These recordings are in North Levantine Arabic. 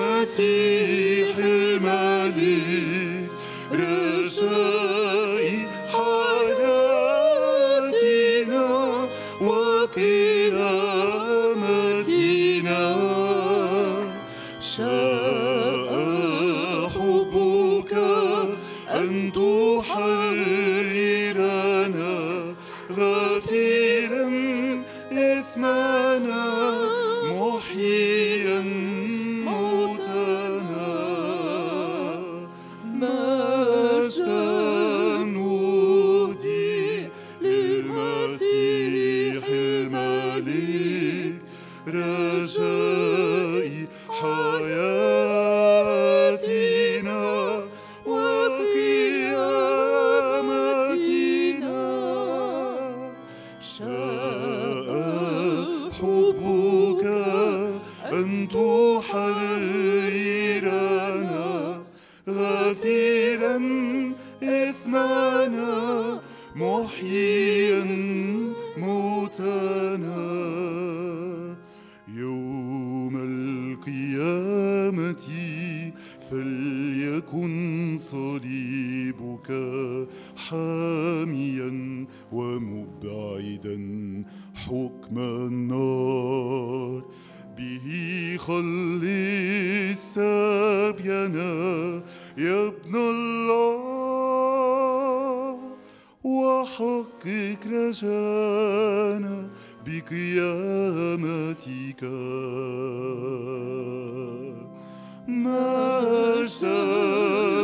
المسيح الملك رجائي حياتنا وقيامتنا شاء حبك أن تحررنا غافرا إثمنا محيا موتنا مجدا نودي للمسيح الملك رجائي حياتنا وقيامتنا شاء حبك أن تحررنا غافرا إثمنا محيا موتنا يوم القيامة فليكن صليبك حاميا ومبعدا حكم النار به خلص سبينا يا ابن الله وحقق رجانا بقيامتك مجدا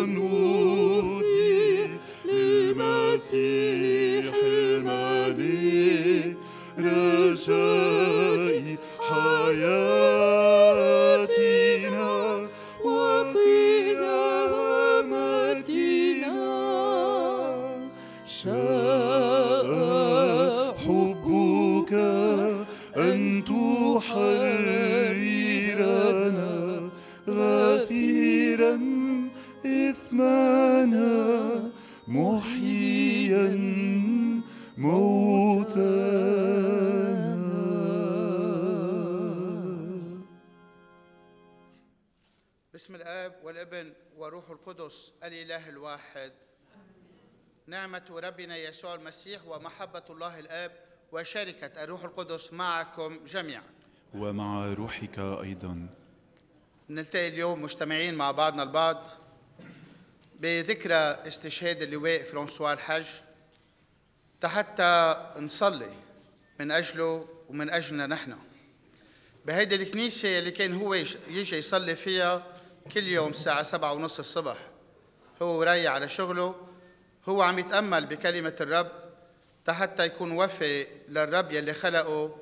نودي للمسيح الملك رجائي حياتنا وقيامتنا شاء حبك أن تحررنا غافرا إثمنا محيا موتنا. باسم الآب والابن وروح القدس الإله الواحد. نعمة ربنا يسوع المسيح ومحبة الله الآب وشركة الروح القدس معكم جميعا ومع روحك أيضا. نلتقي اليوم مجتمعين مع بعضنا البعض بذكرى استشهاد اللواء فرانسوا الحج حتى نصلي من أجله ومن أجلنا نحن بهيدي الكنيسة اللي كان هو يجي يصلي فيها كل يوم الساعة 7:30 الصبح. هو رايح على شغله، هو عم يتأمل بكلمة الرب حتى يكون وفي للرب يلي خلقه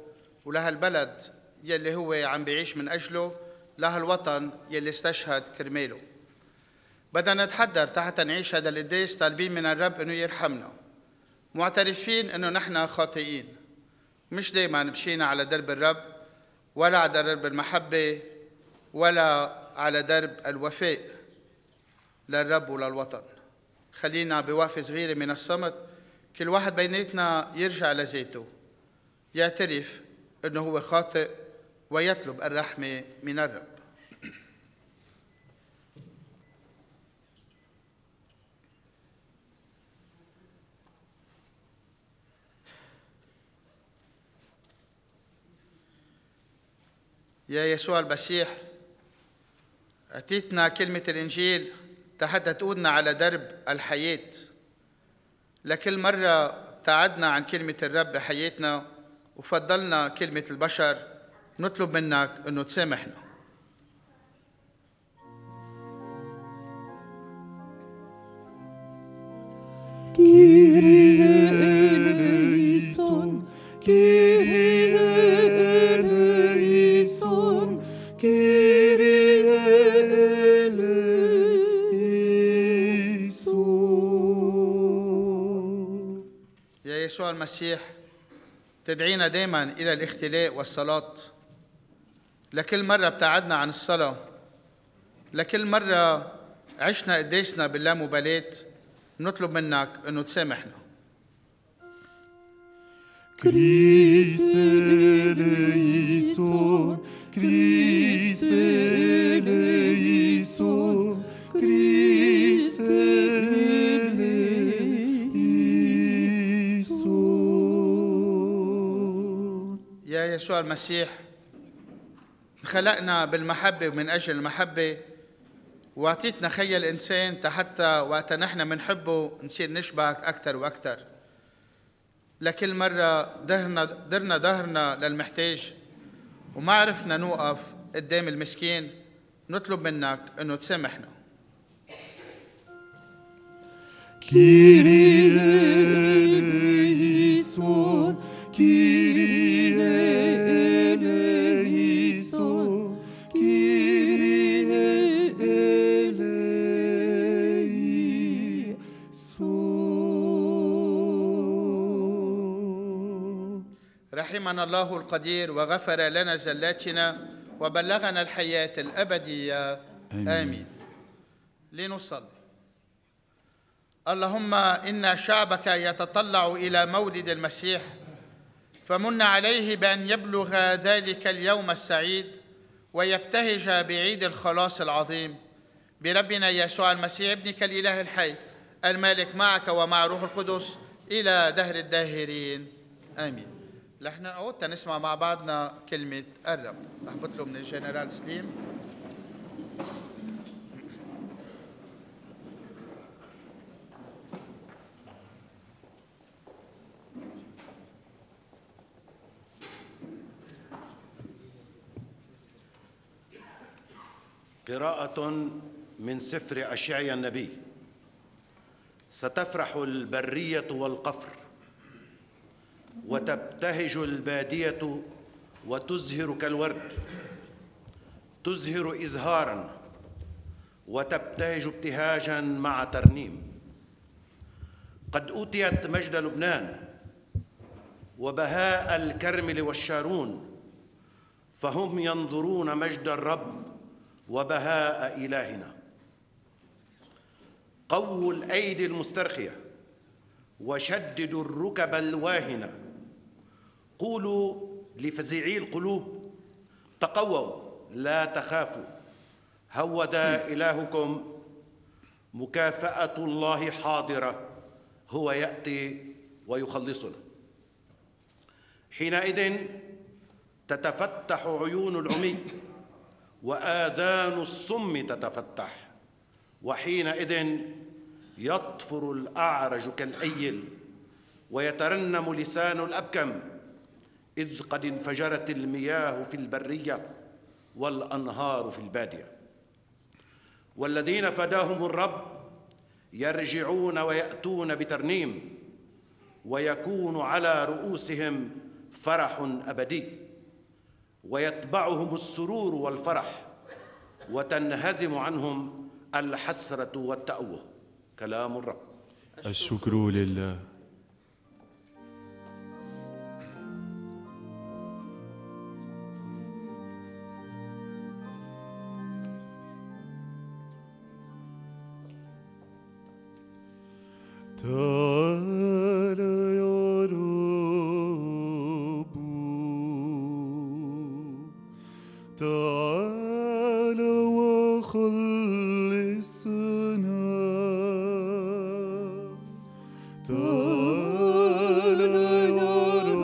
ولهالبلد يلي هو عم بيعيش من أجله، لهالوطن يلي استشهد كرماله. بدنا نتحضر حتى نعيش هذا القداس طالبين من الرب إنه يرحمنا، معترفين إنه نحن خاطئين، مش دايما مشينا على درب الرب ولا على درب المحبة ولا على درب الوفاء للرب وللوطن. خلينا بوقفة صغيرة من الصمت كل واحد بيناتنا يرجع لذاته، يعترف إنه هو خاطئ ويطلب الرحمة من الرب. يا يسوع المسيح، أعطيتنا كلمة الإنجيل حتى تقودنا على درب الحياة. لكل مرة ابتعدنا عن كلمة الرب بحياتنا وفضلنا كلمة البشر، نطلب منك أنه تسامحنا. كيريا إليسون كيريا إليسون كيريا إليسون. يا يسوع المسيح، تدعينا دائما إلى الاختلاء والصلاة. لكل مرة ابتعدنا عن الصلاة، لكل مرة عشنا قداسنا باللامبالاة، نطلب منك أنه تسامحنا. Christ eleison, Christ eleison, Christ eleison. يا يسوع المسيح، خلقنا بالمحبة ومن أجل المحبة، وأعطيتنا خي الإنسان حتى وقت نحن منحبه نصير نشبهك أكثر وأكثر. لكل مرة درنا ظهرنا للمحتاج وما عرفنا نوقف قدام المسكين، نطلب منك أنه تسامحنا. Kyrie eleison, Kyrie eleison, Kyrie eleison. رحمنا الله القدير وغفر لنا زلاتنا وبلغنا الحياة الأبدية. آمين. لنصلي. اللهم إن شعبك يتطلع إلى مولد المسيح، فمن عليه بأن يبلغ ذلك اليوم السعيد ويبتهج بعيد الخلاص العظيم بربنا يسوع المسيح ابنك الإله الحي المالك معك ومع روح القدس إلى دهر الداهرين. آمين. نحن عودنا نسمع مع بعضنا كلمة الرب. رح بطلب من الجنرال سليم. قراءة من سفر أشعيا النبي. ستفرح البرية والقفر، وتبتهج البادية وتزهر كالورد، تزهر إزهاراً وتبتهج ابتهاجاً مع ترنيم. قد أوتيت مجد لبنان وبهاء الكرمل والشارون، فهم ينظرون مجد الرب وبهاء إلهنا. قووا الأيدي المسترخية وشددوا الركب الواهنة. قولوا لفزيعي القلوب تقووا لا تخافوا، هوذا إلهكم، مكافأة الله حاضرة، هو يأتي ويخلصنا. حينئذ تتفتح عيون العمي وآذان الصم تتفتح، وحينئذ يطفر الأعرج كالأيل ويترنم لسان الأبكم، إذ قد انفجرت المياه في البرية والأنهار في البادية. والذين فداهم الرب يرجعون ويأتون بترنيم، ويكون على رؤوسهم فرح أبدي، ويتبعهم السرور والفرح، وتنهزم عنهم الحسرة والتأوه. كلام الرب. الشكر لله. تعال يا رب، تعال وخلصنا، تعال يا رب،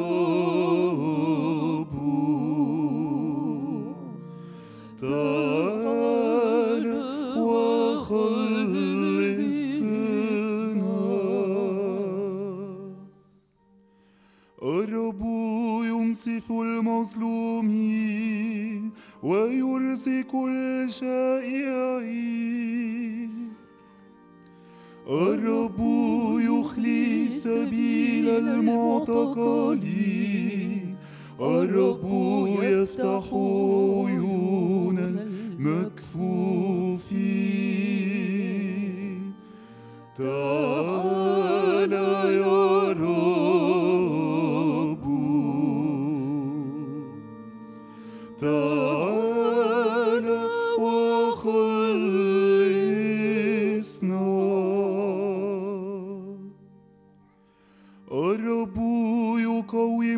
تعال وخلصنا. الرب ينصف المظلومين ويرزق الجائعين. الرب يخلي سبيل المعتقلين. الرب يفتح عيون المكفوفين. تعال يا رب، تعال وخلصنا. الرب يقوي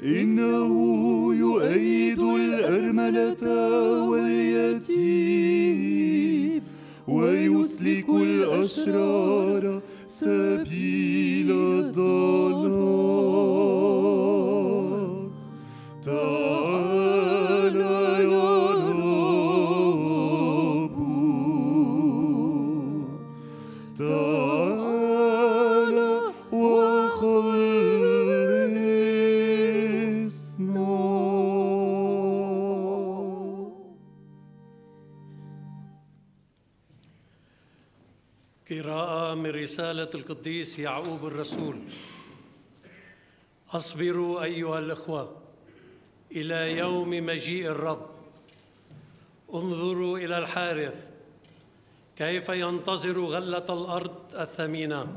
إنه يؤيد الأرملة واليتيم ويسلك الأشرار سبيل الضلال. تعالى يا رب، تعالى وخلصنا. قراءة من رسالة القديس يعقوب الرسول. أصبروا أيها الإخوة إلى يوم مجيء الرب. انظروا إلى الحارث كيف ينتظر غلة الأرض الثمينة،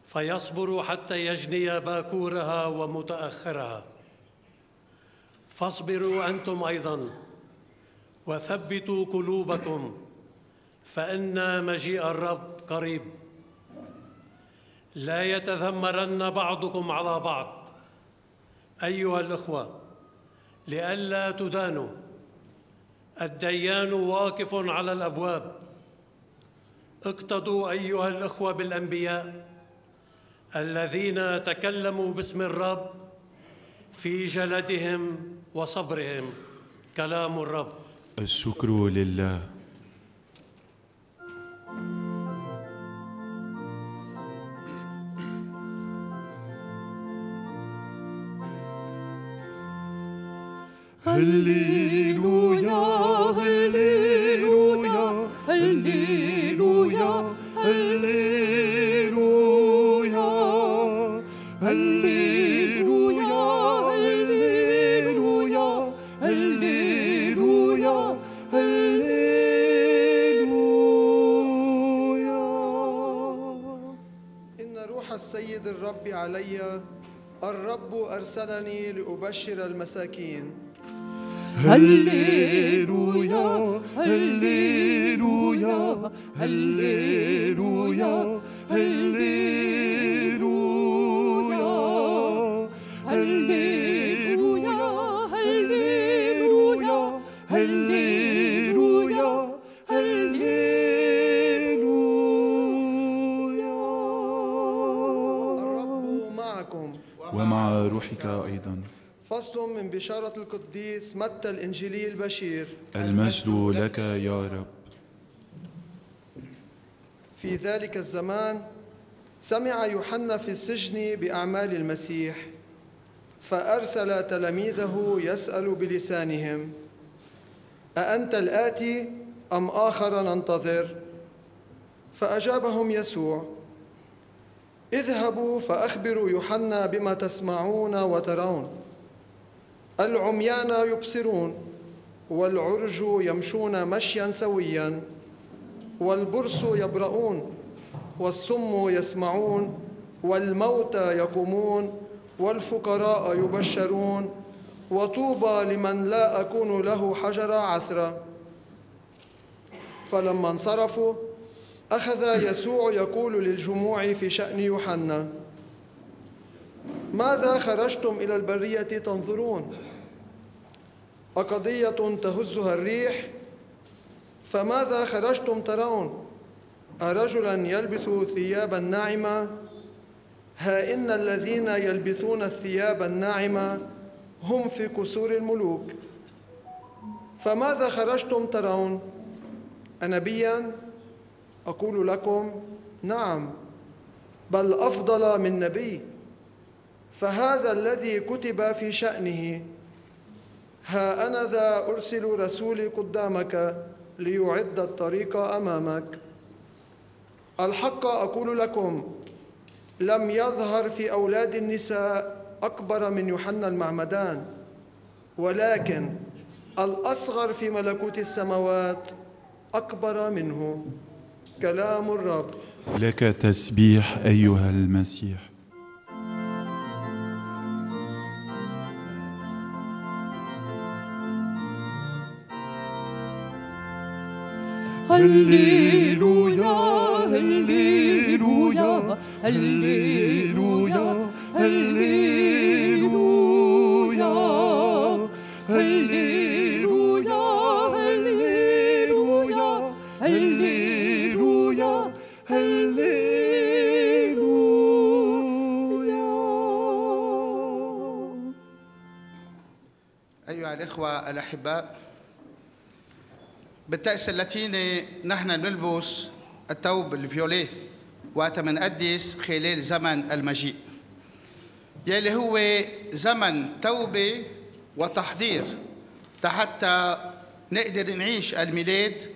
فيصبر حتى يجني باكورها ومتأخرها. فاصبروا أنتم أيضاً وثبتوا قلوبكم، فإن مجيء الرب قريب. لا يتذمرن بعضكم على بعض أيها الإخوة لئلا تدانوا. الديان واقف على الأبواب. اقتدوا أيها الإخوة بالأنبياء الذين تكلموا باسم الرب في جلدهم وصبرهم. كلام الرب. الشكر لله. هللويا هللويا هللويا هللويا هللويا هللويا هللويا هللويا. إن روح السيد الرب علي، الرب أرسلني لأبشر المساكين. هللويا هللويا هللويا هللويا هللويا هللويا هللويا هللويا. الرب معكم ومع روحك أيضا. فصل من بشارة القديس متى الإنجيلي البشير. المجد لك يا رب. في ذلك الزمان سمع يوحنا في السجن بأعمال المسيح، فأرسل تلاميذه يسأل بلسانهم: أأنت الآتي أم آخر ننتظر؟ فأجابهم يسوع: اذهبوا فأخبروا يوحنا بما تسمعون وترون. العميان يبصرون، والعرج يمشون مشيا سويا، والبرص يبرؤون، والصم يسمعون، والموتى يقومون، والفقراء يبشرون، وطوبى لمن لا أكون له حجر عثرة. فلما انصرفوا أخذ يسوع يقول للجموع في شأن يوحنا: ماذا خرجتم إلى البرية تنظرون؟ أقضية تهزها الريح؟ فماذا خرجتم ترون؟ أرجلا يلبث ثيابا ناعمة؟ ها إن الذين يلبثون الثياب الناعمة هم في قصور الملوك. فماذا خرجتم ترون؟ أنبيا؟ أقول لكم نعم، بل أفضل من نبي. فهذا الذي كتب في شأنه: ها أنا ذا أرسل رسولي قدامك ليعد الطريق أمامك. الحق أقول لكم، لم يظهر في أولاد النساء أكبر من يوحنا المعمدان، ولكن الأصغر في ملكوت السماوات أكبر منه. كلام الرب. لك تسبيح أيها المسيح. هللويا هللويا هللويا هللويا أيها الإخوة الأحباء، بالطقس اللاتيني نحن نلبس الثوب الفيوليه وقت منقدس خلال زمن المجيء، يلي هو زمن توبة وتحضير حتى نقدر نعيش الميلاد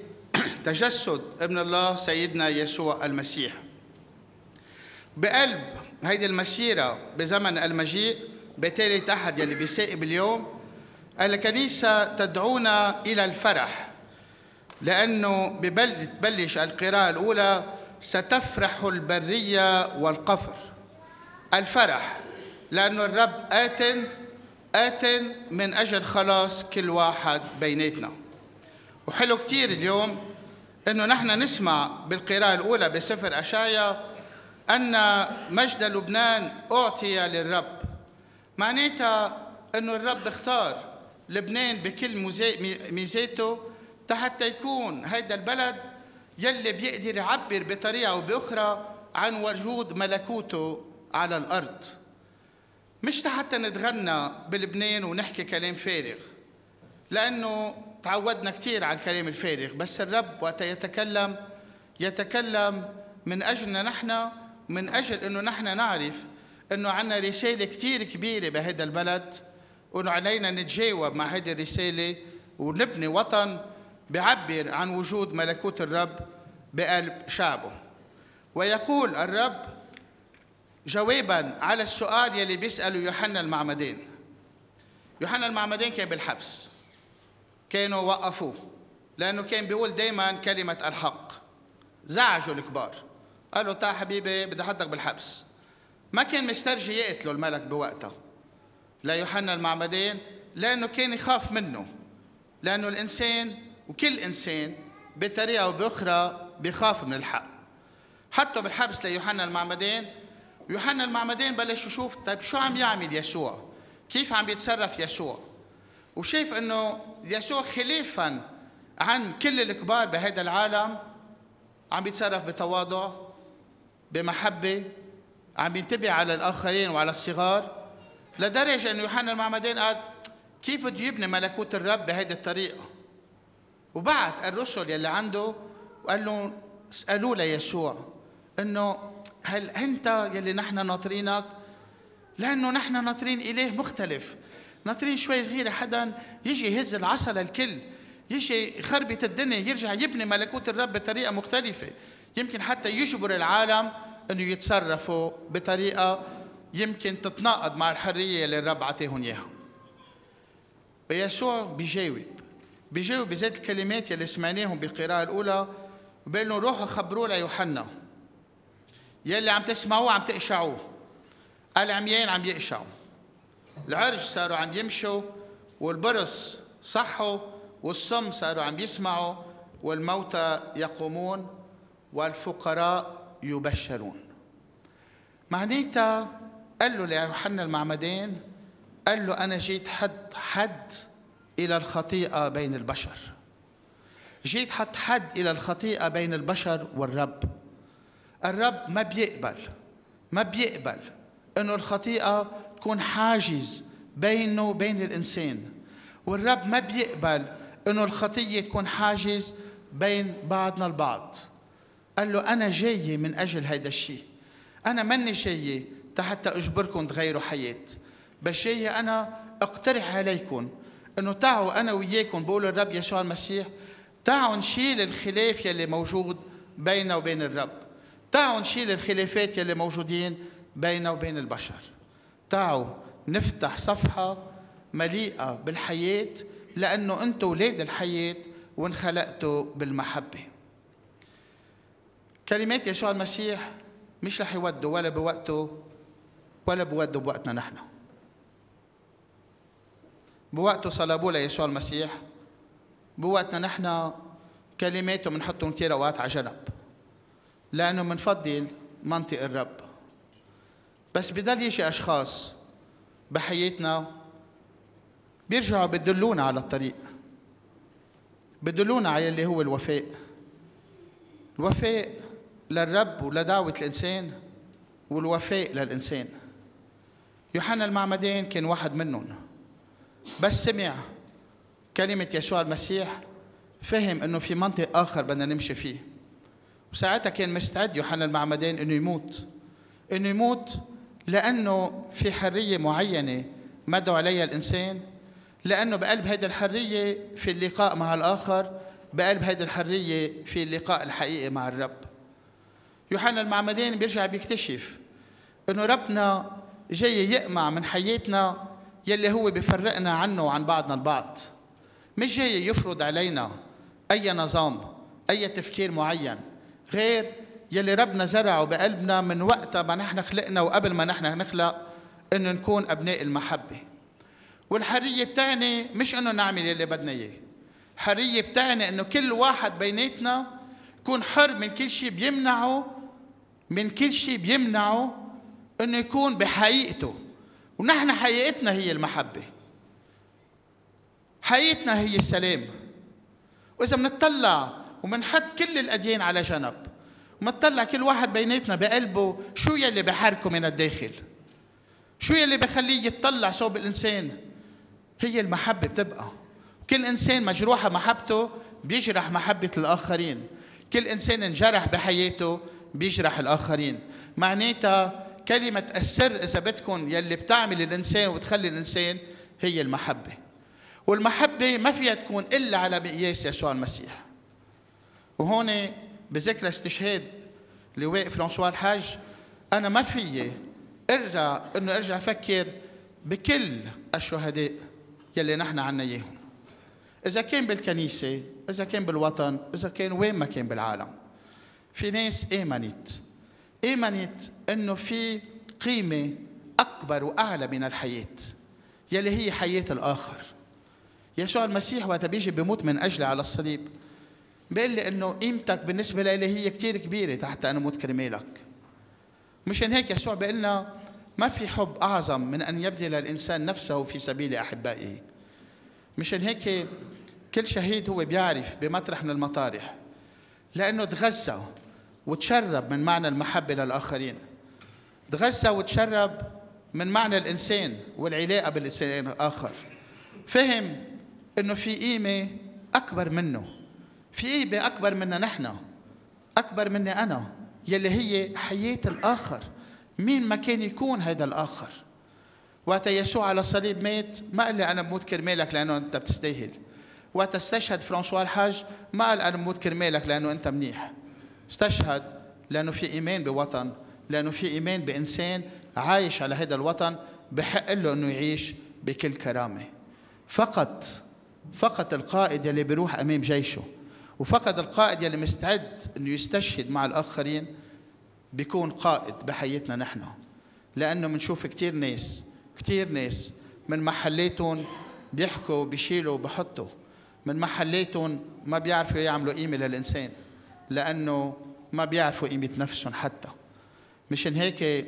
تجسد ابن الله سيدنا يسوع المسيح. بقلب هيدي المسيرة بزمن المجيء بتالي أحد يلي بيسائب اليوم، الكنيسة تدعونا إلى الفرح، لأنه ببلش القراءة الأولى ستفرح البرية والقفر. الفرح لأنه الرب آت من أجل خلاص كل واحد بيناتنا. وحلو كتير اليوم أنه نحن نسمع بالقراءة الأولى بسفر أشعيا أن مجد لبنان أعطي للرب. معناتها أنه الرب اختار لبنان بكل ميزاته حتى يكون هيدا البلد يلي بيقدر يعبر بطريقة أو بأخرى عن وجود ملكوته على الأرض، مش حتى نتغنى بلبنان ونحكي كلام فارغ، لأنه تعودنا كتير على الكلام الفارغ، بس الرب وقت يتكلم من أجلنا نحن، من أجل أنه نحن نعرف أنه عنا رسالة كتير كبيرة بهذا البلد، وأنه علينا نتجاوب مع هذه الرسالة ونبني وطن بيعبر عن وجود ملكوت الرب بقلب شعبه. ويقول الرب جواباً على السؤال يلي بيسأله يوحنا المعمدان. يوحنا المعمدان كان بالحبس، كانوا وقفوه لأنه كان بيقول دايماً كلمة الحق. زعجوا الكبار، قالوا تعال حبيبي بدي أحطك بالحبس. ما كان مسترجي يقتلوا الملك بوقتها لا يوحنا المعمدان، لأنه كان يخاف منه، لأنه الإنسان وكل إنسان بطريقة أو بأخرى بيخاف من الحق. حطوا بالحبس ليوحنا المعمدان، ويوحنا المعمدان بلش يشوف طيب شو عم يعمل يسوع، كيف عم يتصرف يسوع، وشايف انه يسوع خلافا عن كل الكبار بهذا العالم عم يتصرف بتواضع، بمحبة، عم ينتبه على الآخرين وعلى الصغار، لدرجة انه يوحنا المعمدان قال كيف بده يبني ملكوت الرب بهذه الطريقة. وبعت الرسل يلي عنده وقال له اسألوا ليسوع انه هل أنت يلي نحن ناطرينك؟ لأنه نحن ناطرين إله مختلف، ناطرين شوي صغيرة حدا يجي يهز العصا للكل، يجي يخربط الدنيا، يرجع يبني ملكوت الرب بطريقة مختلفة، يمكن حتى يجبر العالم أنه يتصرفوا بطريقة يمكن تتناقض مع الحرية اللي الرب عطيهم إياها. ويسوع بيجاوب بذات الكلمات يلي سمعناهم بالقراءة الأولى، وبيقول لهم روحوا خبروه ليوحنا، يلي عم تسمعوه عم تقشعوه، العميان عم يقشعوا، العرج صاروا عم يمشوا، والبرص صحوا، والصم صاروا عم يسمعوا، والموتى يقومون، والفقراء يبشرون. معناتها قال له ليوحنا المعمدان، قال له أنا جيت حد إلى الخطيئة بين البشر، جيت حد إلى الخطيئة بين البشر والرب. الرب ما بيقبل إنه الخطيئة تكون حاجز بينه وبين الإنسان، والرب ما بيقبل إنه الخطية تكون حاجز بين بعضنا البعض. قال له أنا جاي من أجل هيدا الشيء، أنا ماني جاي حتى أجبركم تغيروا حياة، بس جاي أنا أقترح عليكم إنه تعوا أنا وياكم، بقول الرب يسوع المسيح، تعوا نشيل الخلاف يلي موجود بيننا وبين الرب، تعوا نشيل الخلافات يلي موجودين بيننا وبين البشر، تعوا نفتح صفحة مليئة بالحياة، لأنه أنتم أولاد الحياة وانخلقتوا بالمحبة. كلمات يسوع المسيح مش رح يودوا ولا بوقته ولا بودوا بوقتنا نحن. بوقته صلبوا ليسوع المسيح، بوقتنا نحن كلماته بنحطهم كتير أوقات على جنب، لأنه منفضل منطق الرب. بس بضل يجي أشخاص بحياتنا بيرجعوا بدلونا على الطريق، بدلونا على اللي هو الوفاء للرب ولدعوة الإنسان، والوفاء للإنسان. يوحنا المعمدان كان واحد منهم، بس سمع كلمة يسوع المسيح فهم أنه في منطق آخر بدنا نمشي فيه، وساعتها كان مستعد يوحنا المعمدان أنه يموت لأنه في حرية معينة مدعو عليها الإنسان، لأنه بقلب هذه الحرية في اللقاء مع الآخر، بقلب هذه الحرية في اللقاء الحقيقي مع الرب. يوحنا المعمدان بيرجع بيكتشف أنه ربنا جاي يقمع من حياتنا يلي هو بيفرقنا عنه وعن بعضنا البعض، مش جاي يفرض علينا أي نظام، أي تفكير معين غير يلي ربنا زرعه بقلبنا من وقت ما نحن خلقنا وقبل ما نحن نخلق، إنه نكون أبناء المحبة. والحرية بتعني مش إنه نعمل يلي بدنا إياه، الحرية بتعني إنه كل واحد بيناتنا يكون حر من كل شيء بيمنعه إنه يكون بحقيقته. ونحن حقيقتنا هي المحبة، حقيقتنا هي السلام. وإذا منطلع ومنحط كل الأديان على جنب ومنطلع كل واحد بيناتنا بقلبه شو يلي بحركه من الداخل، شو يلي بخليه يتطلع صوب الإنسان، هي المحبة بتبقى. كل إنسان مجروحة محبته بيجرح محبة الآخرين، كل إنسان انجرح بحياته بيجرح الآخرين. معناتها كلمة السر إذا بدكم يلي بتعمل الإنسان وتخلي الإنسان هي المحبة. والمحبة ما فيها تكون إلا على مقياس يسوع المسيح. وهون بذكرى استشهاد لواء فرانسوا الحاج، أنا ما فيي أرجع أفكر بكل الشهداء يلي نحن عنا إياهم، إذا كان بالكنيسة، إذا كان بالوطن، إذا كان وين ما كان بالعالم. في ناس آمنت إنه في قيمة أكبر وأعلى من الحياة يلي هي حياة الآخر. يسوع المسيح وقت بيجي بيموت من أجلي على الصليب بيقول لي إنه قيمتك بالنسبة لي هي كتير كبيرة حتى أنا موت كرمالك. مشان هيك يسوع بيقول لنا ما في حب أعظم من أن يبذل الإنسان نفسه في سبيل أحبائه. مشان هيك كل شهيد هو بيعرف بمطرح من المطارح، لأنه تغذى وتشرب من معنى المحبة للآخرين، تغذى وتشرب من معنى الإنسان والعلاقة بالإنسان الآخر. فهم إنه في قيمة أكبر منه، في قيمة أكبر منا نحن، أكبر مني أنا، يلي هي حياة الآخر مين ما كان يكون هذا الآخر. وقت يسوع على الصليب مات ما قال لي أنا بموت كرمالك لأنه أنت بتستاهل. وقت استشهد فرانسوا الحاج ما قال أنا بموت كرمالك لأنه أنت منيح. استشهد لأنه في إيمان بوطن، لأنه في إيمان بإنسان عايش على هذا الوطن بحق له أنه يعيش بكل كرامة. فقط القائد يلي بيروح أمام جيشه، وفقط القائد يلي مستعد أنه يستشهد مع الآخرين بيكون قائد بحياتنا نحن. لأنه منشوف كتير ناس من محلاتهم بيحكوا بيشيلوا بحطوا، من محلاتهم ما بيعرفوا يعملوا قيمة للإنسان لأنه ما بيعرفوا قيمة نفسهم حتى. مشان هيك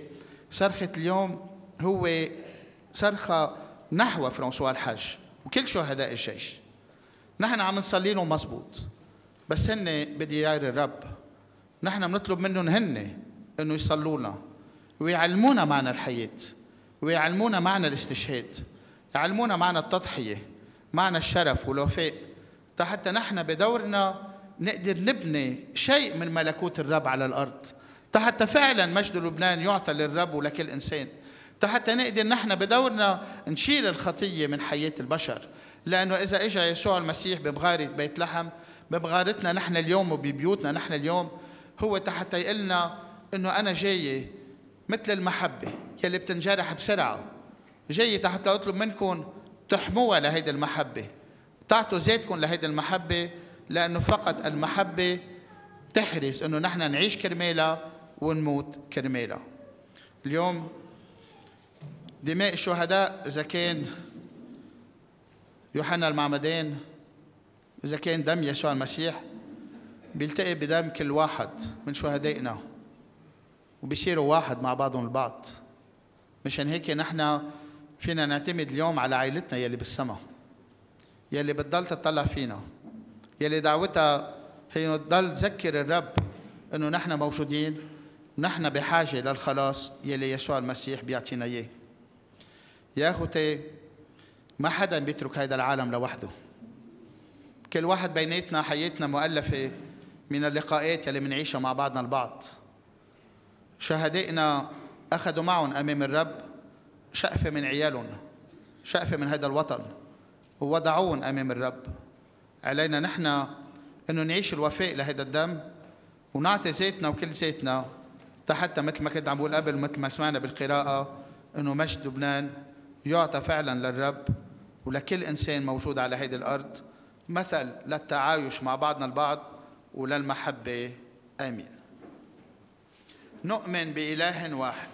صرخة اليوم هو صرخة نحو فرانسوا الحاج وكل شهداء الجيش. نحن عم نصلي لهم مزبوط، بس هن بديار الرب. نحن بنطلب منهم هن انه يصلونا ويعلمونا معنى الحياة، ويعلمونا معنى الاستشهاد، يعلمونا معنى التضحية، معنى الشرف والوفاء، حتى نحن بدورنا نقدر نبني شيء من ملكوت الرب على الأرض، حتى فعلا مجد لبنان يعطى للرب ولكل إنسان، حتى نقدر نحن بدورنا نشيل الخطية من حياة البشر. لأنه إذا إجا يسوع المسيح بمغارة بيت لحم، بمغارتنا نحن اليوم وببيوتنا نحن اليوم، هو حتى يقلنا إنه أنا جاي مثل المحبة يلي بتنجرح بسرعة، جاي حتى أطلب منكم تحموها لهيدي المحبة، تعطوا ذاتكم لهيدي المحبة، لأنه فقط المحبة تحرص إنه نحن نعيش كرمالها ونموت كرمالها. اليوم دماء الشهداء، إذا كان يوحنا المعمدان، إذا كان دم يسوع المسيح، بيلتقي بدم كل واحد من شهدائنا وبيصيروا واحد مع بعضهم البعض. مشان هيك نحن فينا نعتمد اليوم على عائلتنا يلي بالسما، يلي بتضل تطلع فينا، يلي دعوتها هي تضل تذكر الرب إنه نحن موجودين ونحن بحاجة للخلاص يلي يسوع المسيح بيعطينا إياه. يا أخوتي، ما حدا بيترك هذا العالم لوحده، كل واحد بيناتنا حياتنا مؤلفة من اللقاءات يلي منعيشها مع بعضنا البعض. شهدائنا أخذوا معهم أمام الرب شقفة من عيالهم، شقفة من هذا الوطن، ووضعوهم أمام الرب. علينا نحن أنه نعيش الوفاء لهذا الدم ونعطي ذاتنا وكل ذاتنا حتى مثل ما كنت عم بقول قبل، مثل ما سمعنا بالقراءة، أنه مجد لبنان يعطى فعلا للرب ولكل إنسان موجود على هذه الأرض، مثل للتعايش مع بعضنا البعض وللمحبة. آمين. نؤمن بإله واحد.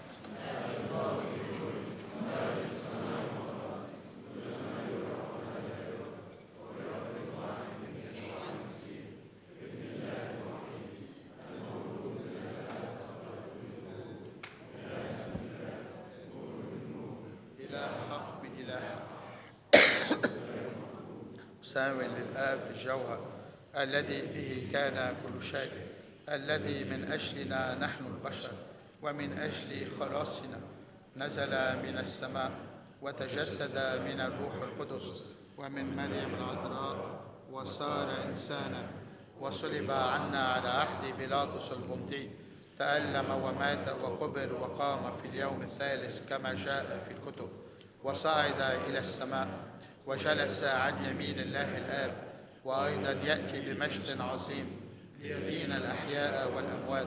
مساوٍ للآب في الجوهر، الذي به كان كل شيء، الذي من أجلنا نحن البشر ومن أجل خلاصنا نزل من السماء وتجسد من الروح القدس ومن مريم العذراء وصار إنسانا وصلب عنا على عهد بيلاطس البنطي، تألم ومات وقبر وقام في اليوم الثالث كما جاء في الكتب، وصعد إلى السماء وجلس عن يمين الله الآب، وأيضا يأتي بمجد عظيم ليدين الأحياء والأموات،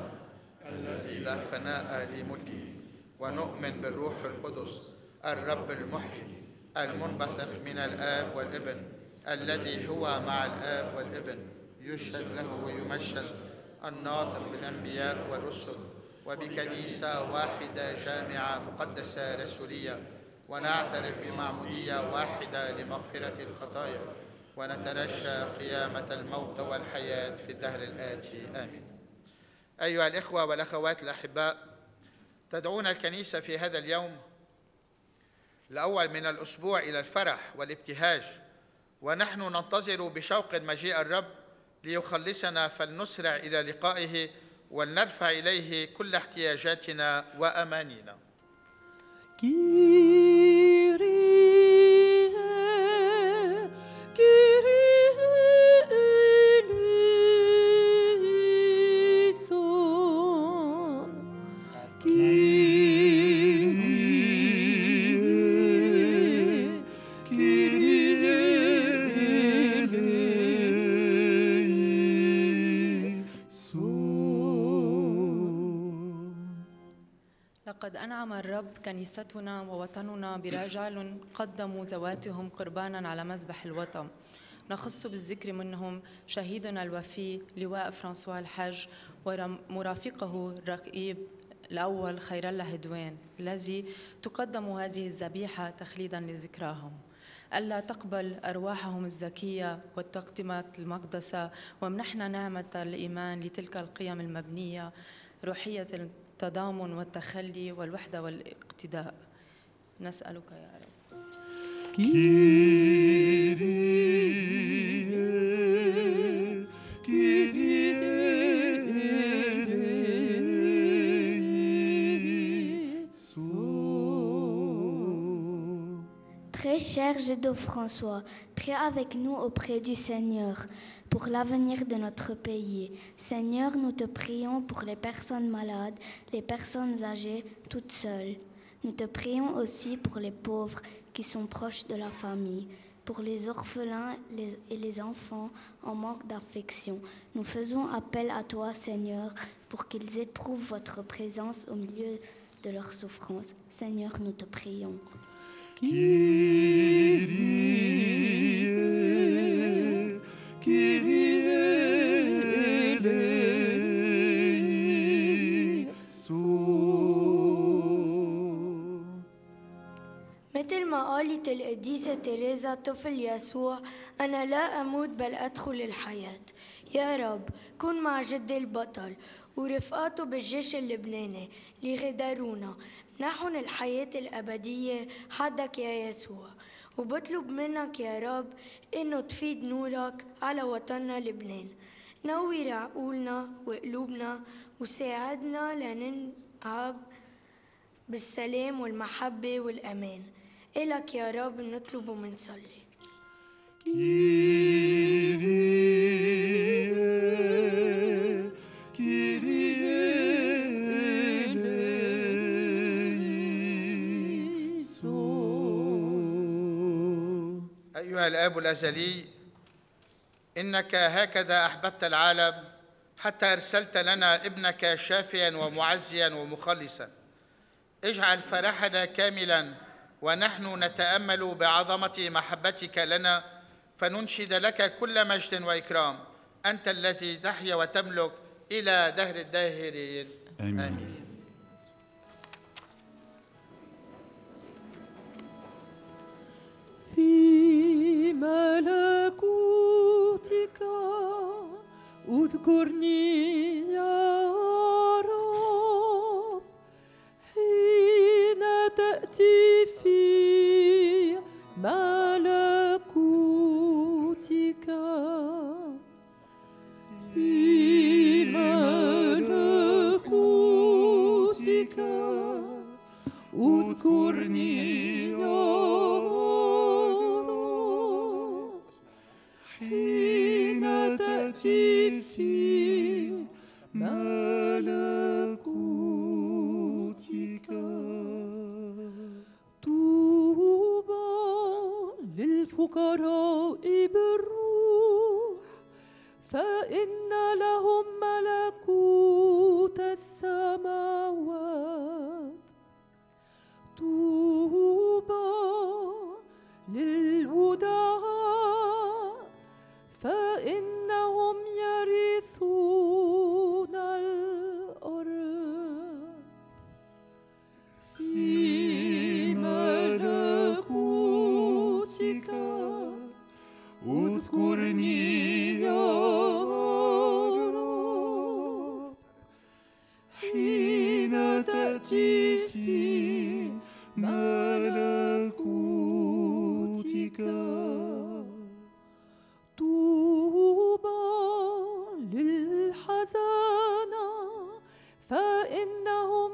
الذي لا فناء لملكه. ونؤمن بالروح القدس الرب المحيي المنبثق من الآب والابن، الذي هو مع الآب والابن، يشهد له ويمجد، الناطق بالأنبياء والرسل، وبكنيسة واحدة جامعة مقدسة رسولية، ونعترف بمعمودية واحدة لمغفرة الخطايا، ونترجى قيامة الموت والحياة في الدهر الآتي. آمين. أيها الإخوة والأخوات الأحباء، تدعونا الكنيسة في هذا اليوم الأول من الأسبوع إلى الفرح والابتهاج، ونحن ننتظر بشوق مجيء الرب ليخلصنا، فلنسرع إلى لقائه ولنرفع إليه كل احتياجاتنا وأمانينا. لقد أنعم الرب كنيستنا ووطننا برجال قدموا ذواتهم قربانا على مذبح الوطن. نخص بالذكر منهم شهيدنا الوفي لواء فرانسوا الحج ومرافقه الرقيب الأول خير الله هدوان، الذي تقدم هذه الذبيحة تخليدا لذكراهم. ألا تقبل أرواحهم الزكية والتقدمات المقدسة، ومنحنا نعمة الإيمان لتلك القيم المبنية، روحية التضامن والتخلي والوحدة والاقتداء. نسألك يا رب. Très cher Judo-François, prie avec nous auprès du Seigneur pour l'avenir de notre pays. Seigneur, nous te prions pour les personnes malades, les personnes âgées, toutes seules. Nous te prions aussi pour les pauvres qui sont proches de la famille, pour les orphelins et les enfants en manque d'affection. Nous faisons appel à toi, Seigneur, pour qu'ils éprouvent votre présence au milieu de leurs souffrances. Seigneur, nous te prions. مثل ما قالت القديسة تيريزا طفل يسوع، أنا لا أموت بل أدخل الحياة. يا رب كن مع جدي البطل ورفقاته بالجيش اللبناني ليغادرونا، منحن الحياة الأبدية حدك يا يسوع، وبطلب منك يا رب إنه تفيد نورك على وطننا لبنان. نور عقولنا وقلوبنا وساعدنا لننعم بالسلام والمحبة والأمان. إلك يا رب نطلب ومنصلي. أيها الآب الأزلي، إنك هكذا أحببت العالم حتى أرسلت لنا ابنك شافيا ومعزيا ومخلصا. اجعل فرحنا كاملا ونحن نتأمل بعظمة محبتك لنا، فننشد لك كل مجد وإكرام، أنت الذي تحيا وتملك إلى دهر الداهرين. آمين. في ملكوتك اذكرني يا رب حين تأتي في ملكوتك. في ملكوتك اذكرني يا رب حين تأتي في ملكوتك. طوبى للفقراء بالروح فإن لهم ملكوت السماوات. طوبى للودعاء فإنهم يرثون الأرض. في ملكوتك اذكرني يا رب حين تأتي في ملكوتك. طوبى للحزانى فإنهم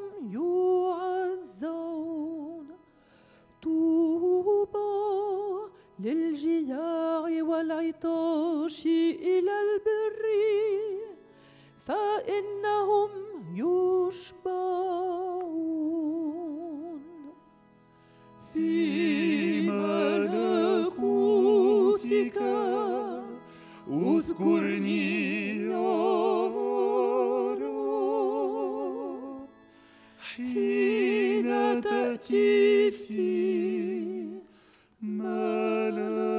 يعزون. طوبى للجياع والعطاش إلى البر فإنهم يشبعون. في ملكوتك اذكرني يا رب حين تأتي في ملكوتك.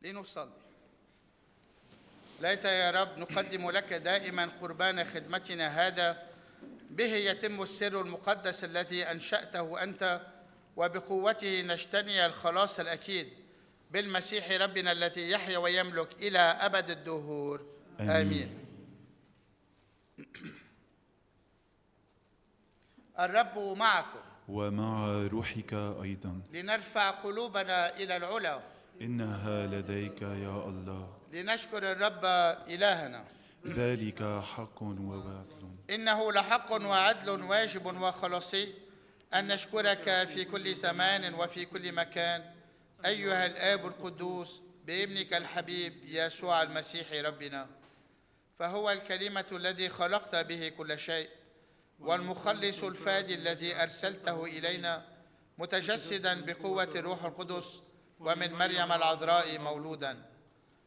لنصلي. ليت يا رب نقدم لك دائما قربان خدمتنا هذا، به يتم السر المقدس الذي أنشأته أنت، وبقوته نجتني الخلاص الأكيد بالمسيح ربنا الذي يحيا ويملك إلى أبد الدهور. آمين. الرب معكم ومع روحك أيضا. لنرفع قلوبنا إلى العلا. إنها لديك يا الله. لنشكر الرب إلهنا. ذلك حق وعدل. إنه لحق وعدل واجب وخلاصي أن نشكرك في كل زمان وفي كل مكان أيها الآب القدوس بابنك الحبيب يسوع المسيح ربنا، فهو الكلمة الذي خلقت به كل شيء، والمخلص الفادي الذي أرسلته إلينا متجسدا بقوة الروح القدس ومن مريم العذراء مولودا.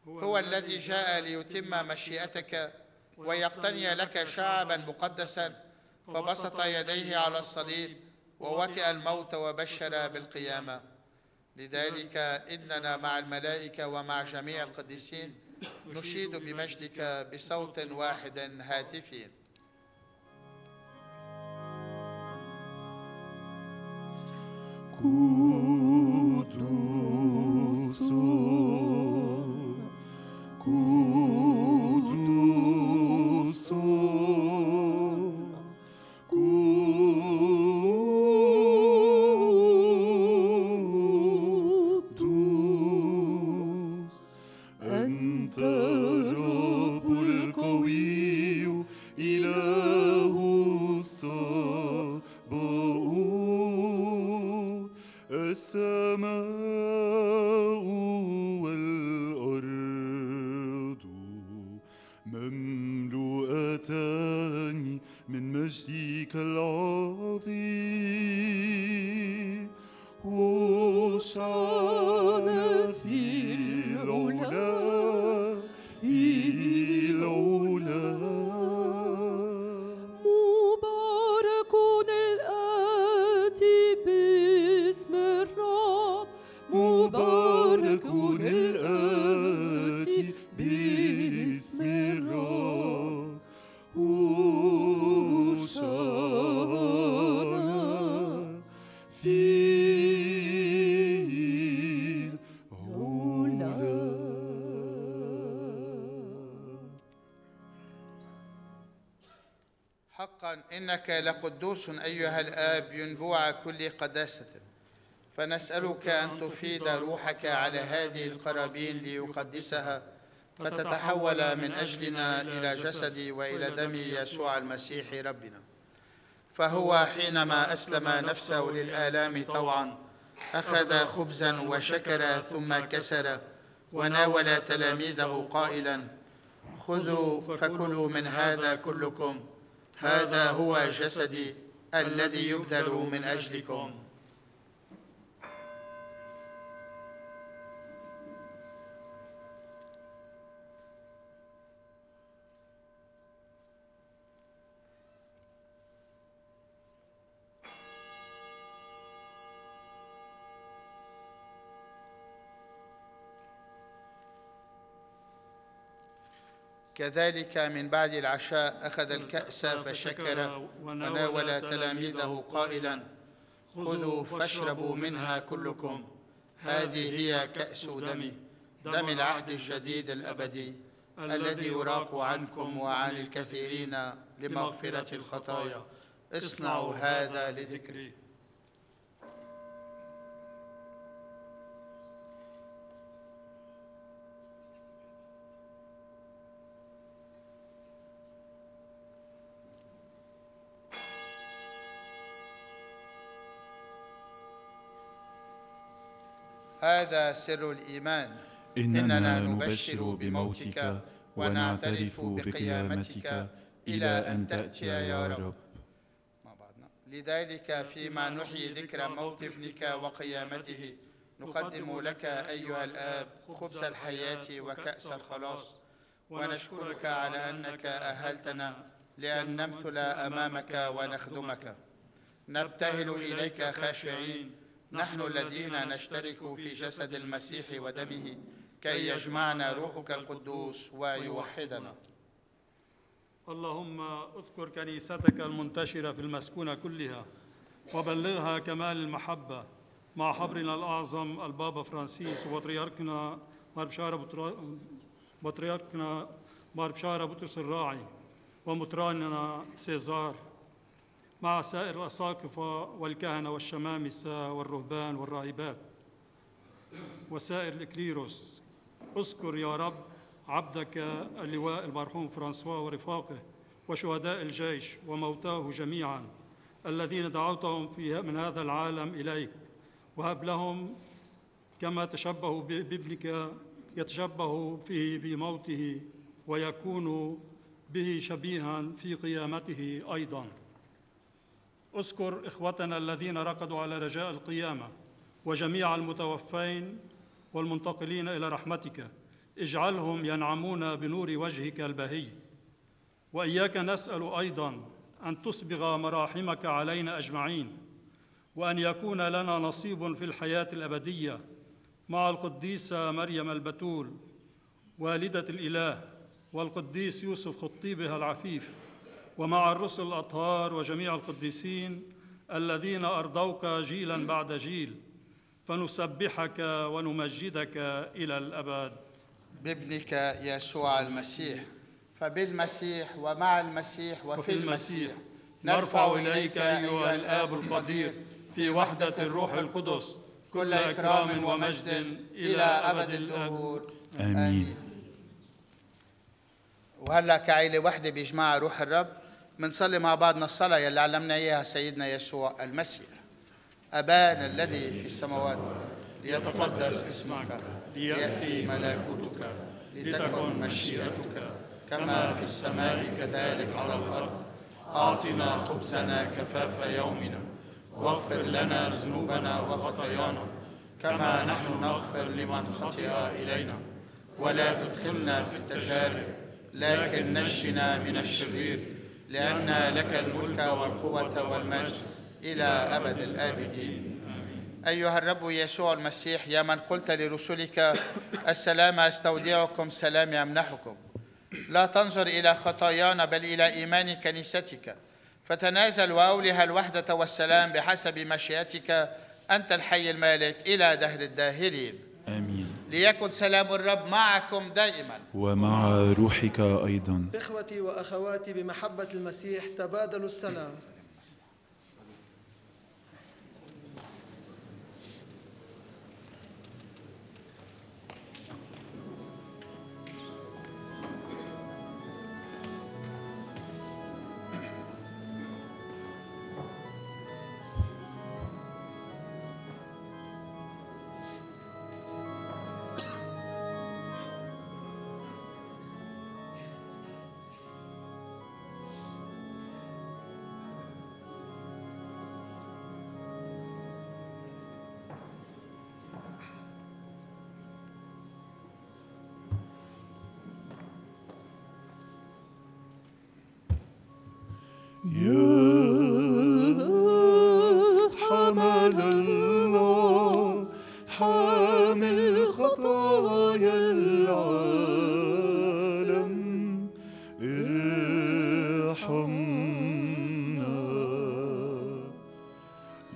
هو الذي جاء ليتم مشيئتك ويقتني لك شعبا مقدسا، فبسط يديه على الصليب ووطئ الموت وبشر بالقيامة. لذلك إننا مع الملائكة ومع جميع القديسين نشيد بمجدك بصوت واحد هاتفين. قدوس قدوس قدوس أنت الرب القوي إله الصالح مملوءتان من مجدك العظيم هوشعنا في العلا في العلا مبارك الآتي باسم الرب مبارك الآتي باسم الرب هوشعنا في حقا إنك لقدوس أيها الآب ينبوع كل قداسة، فنسألك أن تفيد روحك على هذه القرابين ليقدسها، فتتحول من أجلنا إلى جسد وإلى دم يسوع المسيح ربنا. فهو حينما أسلم نفسه للآلام طوعا أخذ خبزا وشكر ثم كسر وناول تلاميذه قائلا: خذوا فكلوا من هذا كلكم، هذا هو جسدي الذي يبذل من أجلكم. كذلك من بعد العشاء أخذ الكأس فشكر وناول تلاميذه قائلا: خذوا فاشربوا منها كلكم، هذه هي كأس دمي، دم العهد الجديد الأبدي الذي يراق عنكم وعن الكثيرين لمغفرة الخطايا. اصنعوا هذا لذكري. هذا سر الإيمان، إننا نبشر بموتك ونعترف بقيامتك إلى أن تأتي يا رب. مع بعضنا. لذلك فيما نحيي ذكرى موت ابنك وقيامته نقدم لك أيها الآب خبز الحياة وكأس الخلاص، ونشكرك على أنك أهلتنا لأن نمثل أمامك ونخدمك. نبتهل إليك خاشعين نحن الذين نشترك في جسد المسيح ودمه، كي يجمعنا روحك القدوس ويوحدنا. اللهم اذكر كنيستك المنتشرة في المسكونة كلها وبلغها كمال المحبة مع حبرنا الأعظم البابا فرانسيس وبطريركنا بطريركنا بطرس الراعي ومطراننا سيزار، مع سائر الأساقفة والكهنة والشمامسة والرهبان والراهبات وسائر الإكليروس. اذكر يا رب عبدك اللواء المرحوم فرانسوا ورفاقه وشهداء الجيش وموتاه جميعا الذين دعوتهم من هذا العالم إليك، وهب لهم كما تشبهوا بابنك يتشبه فيه بموته ويكون به شبيها في قيامته أيضا. اذكر إخوتنا الذين رقدوا على رجاء القيامة وجميع المتوفين والمنتقلين إلى رحمتك، اجعلهم ينعمون بنور وجهك البهي. وإياك نسأل أيضا أن تسبغ مراحمك علينا أجمعين، وأن يكون لنا نصيب في الحياة الأبدية مع القديسة مريم البتول والدة الإله، والقديس يوسف خطيبها العفيف، ومع الرسل الأطهار وجميع القديسين الذين أرضوك جيلا بعد جيل، فنسبحك ونمجدك إلى الأبد. بابنك يسوع المسيح، فبالمسيح ومع المسيح وفي المسيح نرفع إليك أيها الآب القدير في وحدة الروح القدس كل إكرام ومجد إلى أبد الدهور. آمين. وهلا كعيلة وحدة بيجمعها روح الرب منصلي مع بعضنا الصلاة يلي علمنا إياها سيدنا يسوع المسيح. أبانا الذي في السماوات، ليتقدس اسمك، ليأتي ملكوتك، لتكن مشيئتك كما في السماء كذلك على الأرض. أعطنا خبزنا كفاف يومنا، واغفر لنا ذنوبنا وخطايانا كما نحن نغفر لمن خطئ إلينا، ولا تدخلنا في التجارب لكن نجنا من الشرير، لأن لك الملك والقوة والمجد إلى أبد الآبدين. أيها الرب يسوع المسيح، يا من قلت لرسلك السلام أستودعكم سلام أمنحكم، لا تنظر إلى خطايانا بل إلى إيمان كنيستك، فتنازل وأولها الوحدة والسلام بحسب مشيئتك أنت الحي المالك إلى دهر الداهرين. آمين. ليكن سلام الرب معكم دائما ومع روحك أيضا. إخوتي وأخواتي بمحبة المسيح تبادلوا السلام. يا حمل الله حامل خطايا العالم ارحمنا.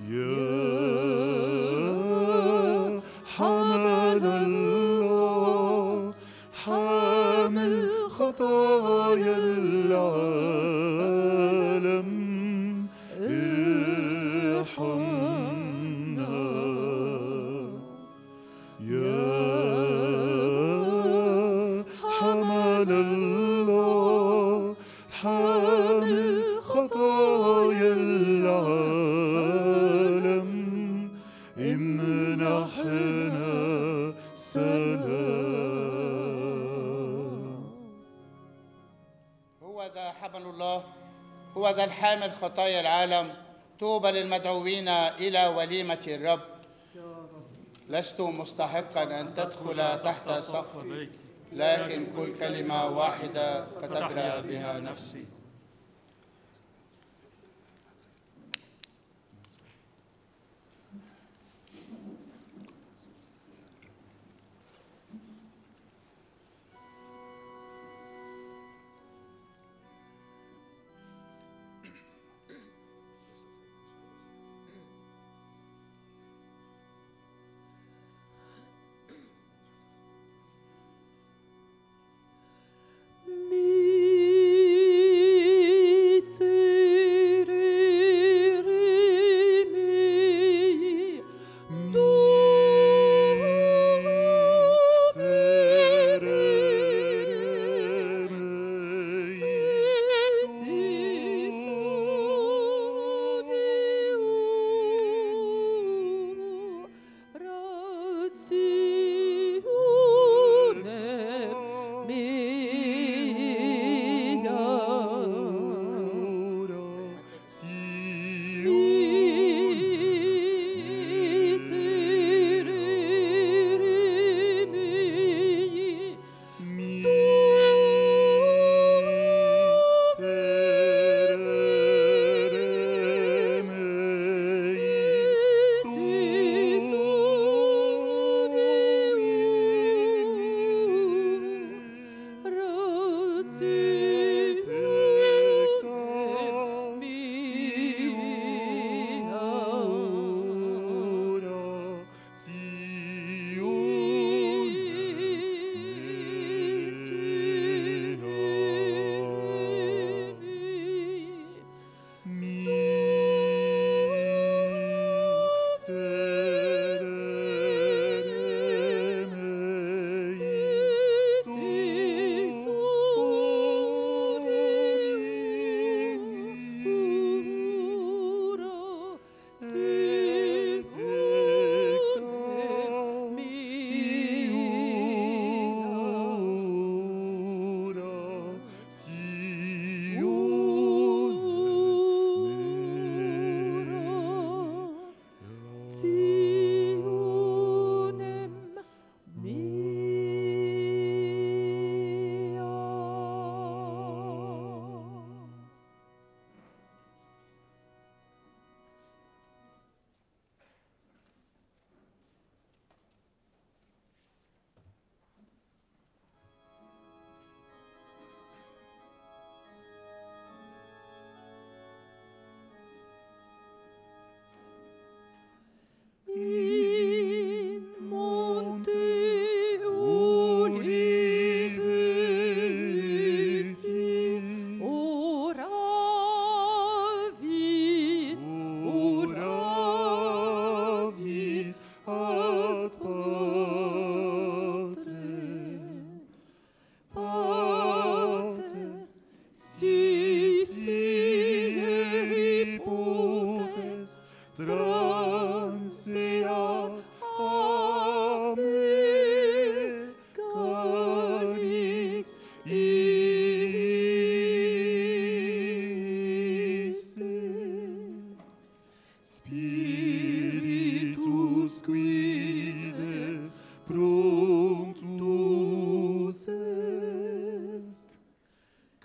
يا حمل الله حامل خطايا العالم ارحمنا. يا حمل الله حامل خطايا العالم امنحنا سلام. هو ذا حمل الله، هو ذا الحامل خطايا العالم. طوبى للمدعوين إلى وليمة الرب. لست مستحقا أن تدخل تحت سقفي، لكن كل كلمة واحدة فتبرأ بها نفسي. مين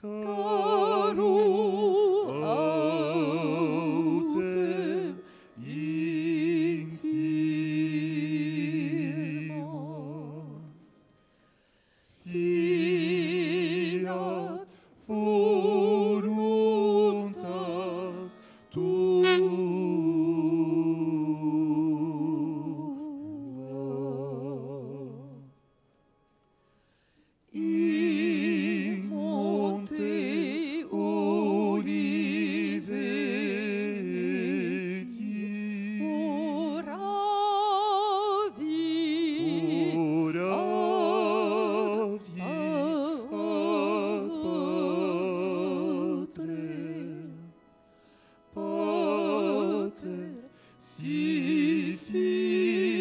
Caro autem infimo, fiat voluntas tua. In monte Oliveti, oravi ad Pater, si fieri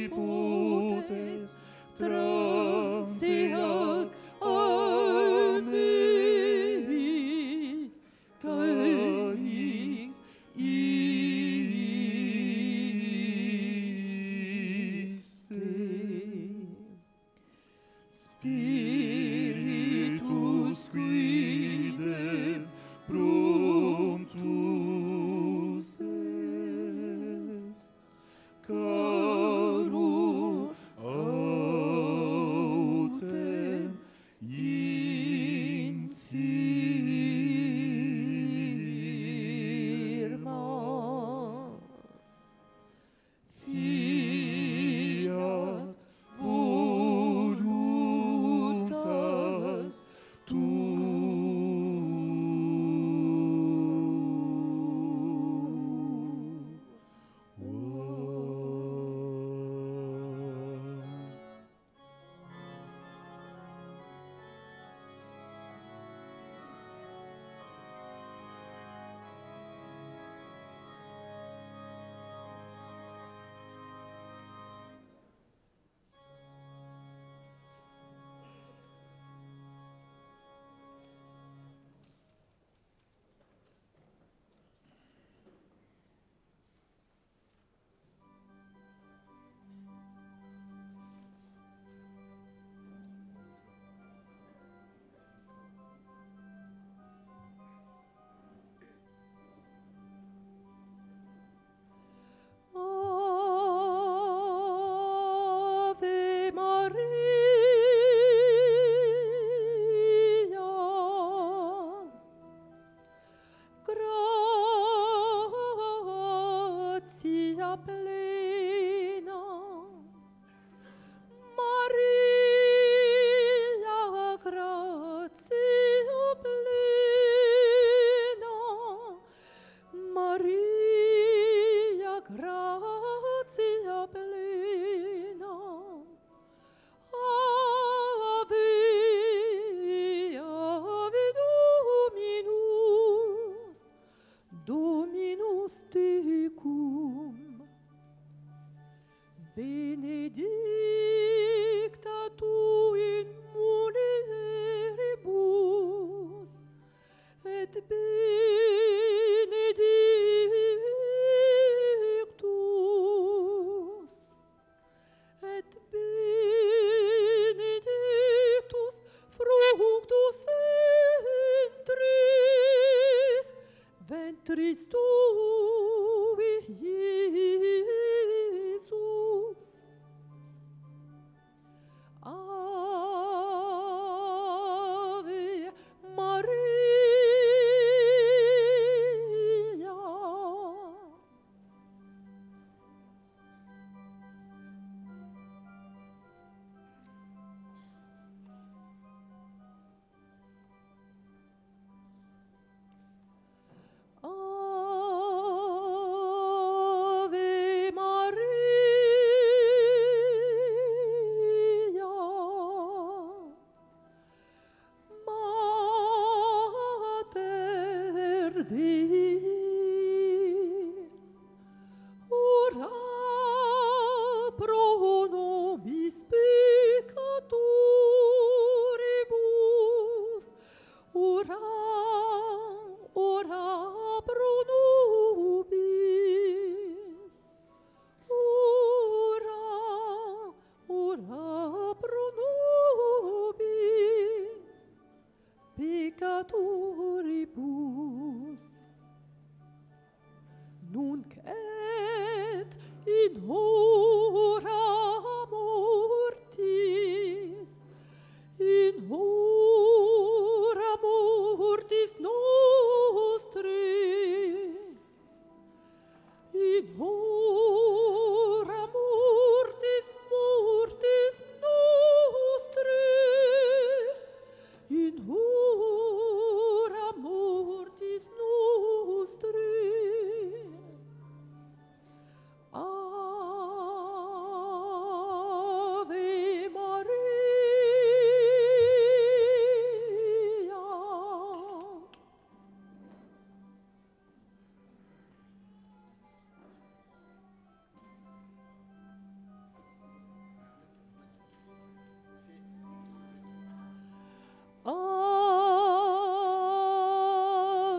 potes transeat a me, calix iste. Spiritus quidem promptus est, caro autem infirma. Fiat voluntas Ave Maria, gratia plena, Maria, gratia plena, Maria, gratia plena, Ave, Ave Dominus, Dominus tecum, benedicta tu in mulieribus, et benedictus, fructus ventris tui, Iesus. Ave Maria. Ave Maria, Mater Dei, ora pro nobis peccatoribus, ora pro nobis, ora pro nobis, peccatoribus, nunc et in hora mortis nostre, in hora mortis nostre, in hora mortis nostre. Ave Maria.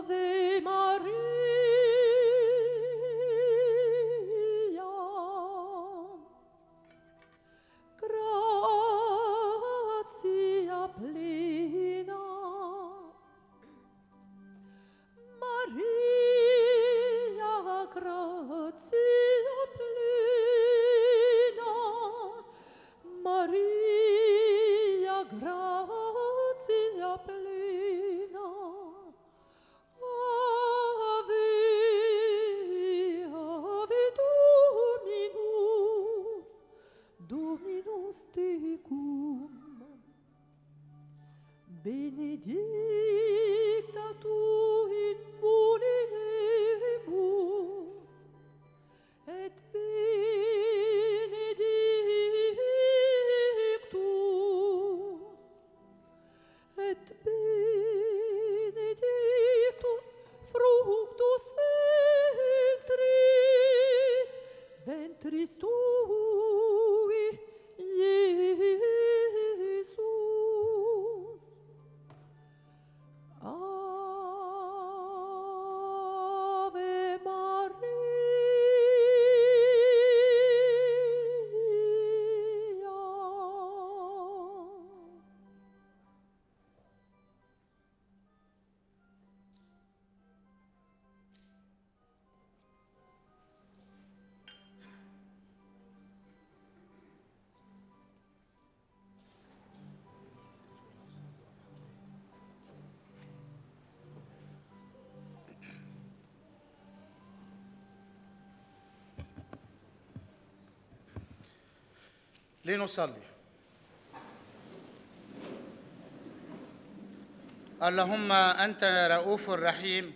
Ave Maria, gratia plena, Maria, gratia plena, Maria, gratia plena, Ave, Ave Dominus, Dominus tecum, benedicta tu in mulieribus, et benedictus fructus ventris tui, Iesus. Ave Maria. لنصلي. اللهم أنت رؤوف رحيم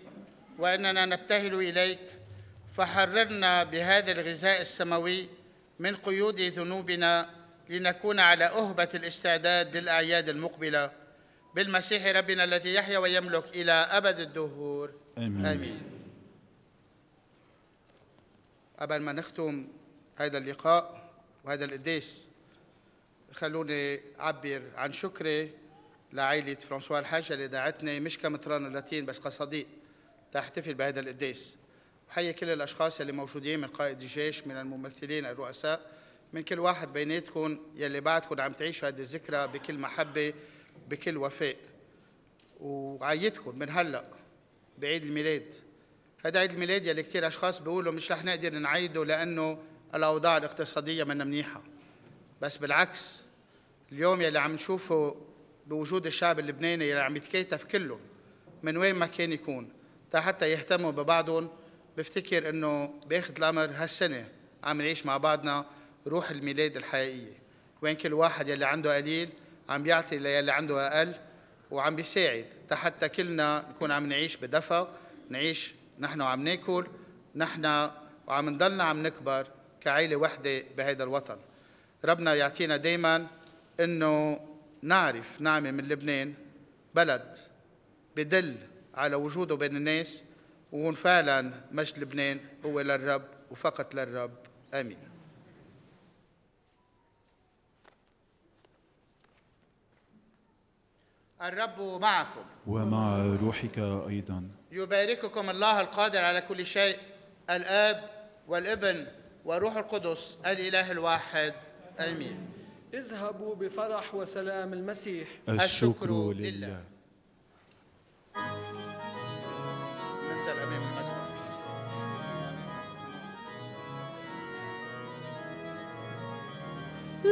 وإننا نبتهل إليك، فحررنا بهذا الغذاء السماوي من قيود ذنوبنا لنكون على أهبة الاستعداد للأعياد المقبلة بالمسيح ربنا الذي يحيا ويملك إلى أبد الدهور. آمين. آمين. قبل ما نختم هذا اللقاء وهذا القداس، خلوني أعبر عن شكري لعائلة فرانسوا الحاج اللي دعتني مش كمطران اللاتين بس كصديق تحتفل بهذا القداس. وحيي كل الأشخاص اللي موجودين من قائد الجيش، من الممثلين، الرؤساء، من كل واحد بيناتكم يلي بعدكم عم تعيشوا هذه الذكرى بكل محبة بكل وفاء. وعيدكم من هلأ بعيد الميلاد. هذا عيد الميلاد يلي كتير أشخاص بيقولوا مش رح نقدر نعيده لأنه الأوضاع الاقتصادية منا منيحة، بس بالعكس اليوم يلي عم نشوفه بوجود الشعب اللبناني يلي عم يتكاتف كلهم من وين ما كان يكون حتى يهتموا ببعضهم، بفتكر انه باخذ الامر هالسنه عم نعيش مع بعضنا روح الميلاد الحقيقيه، وين كل واحد يلي عنده قليل عم بيعطي للي عنده اقل وعم بيساعد حتى كلنا نكون عم نعيش بدفى، نعيش نحن وعم ناكل نحن وعم نضلنا عم نكبر كعائله وحده بهذا الوطن. ربنا يعطينا دائما انه نعرف نعمل من لبنان بلد بدل على وجوده بين الناس، وهون فعلا مجد لبنان هو للرب وفقط للرب. امين. الرب معكم ومع روحك ايضا. يبارككم الله القادر على كل شيء، الآب والابن والروح القدس الإله الواحد. آمين. اذهبوا بفرح وسلام المسيح. الشكر لله. ينزل أمام المسبح.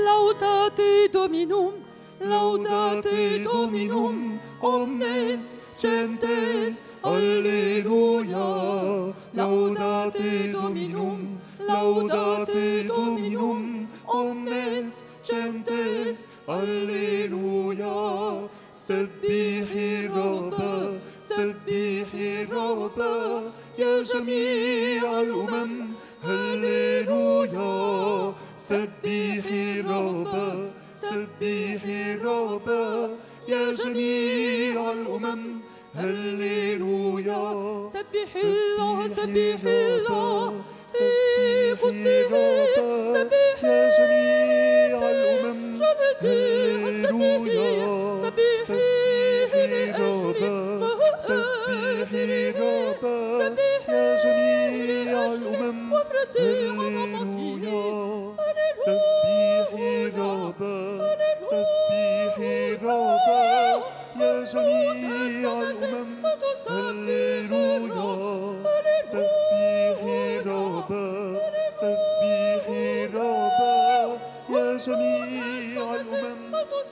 Laudate Dominum, laudate Dominum, omnes gentes, alleluia. Laudate Dominum, laudate Dominum, omnes gentes, alleluia. سبحي الرب سبحي الرب يا جميع الأمم هللويا. سبحي الرب سبحي الرب يا جميع الأمم هللويا. سبحي الله سبحي الله في قدسه سبحي يا جميع الأمم هللويا. سبحي الرب سبحي الرب يا جميع الأمم هللويا. سبحي الرب سبحي الرب يا جميع الأمم هللويا. سبحي الرب سبحي الرب يا جميع الأمم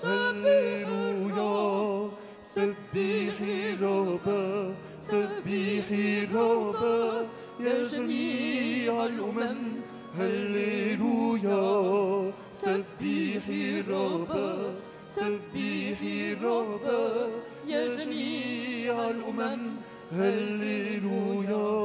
هللويا. سبحي الرب سبحي الرب يا جميع الأمم هللويا. سبحي الرب سبحي الرب يا جميع الأمم هللويا.